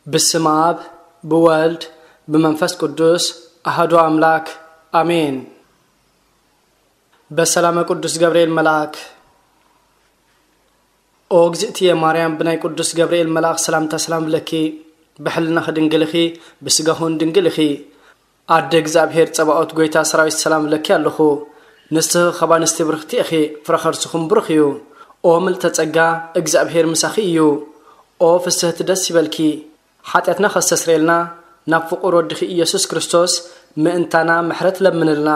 ብስም ኣብ ብወልድ ብመንፈስ ቅዱስ ኣህዶ ኣምላክ ኣሜን። በሰላመ ቅዱስ ገብርኤል መልኣክ። ኦ እግዝእትየ ማርያም፣ ብናይ ቅዱስ ገብርኤል መልኣኽ ሰላምታ ሰላም ብለኪ። ብሕልናኺ ድንግል ኢኺ፣ ብስጋኹን ድንግል ኢኺ። ኣደ እግዚኣብሔር ጸባኦት፣ ጎይታ ሰራዊት፣ ሰላም ብለኪ ኣለኹ። ንስኺ ካብ ኣንስቲ ብርኽቲ ኢኺ፣ ፍረ ከርስኹም ብሩኽ እዩ። ኦ ምልዕተ ጸጋ፣ እግዚኣብሔር ምሳኺ እዩ። ኦ ፍስህቲ፣ ደስ ይበልኪ። ሓጢኣትና ከስተስርየልና ናብ ፍቑር ወድኺ ኢየሱስ ክርስቶስ ምእንታና ምሕረት ለምንልና።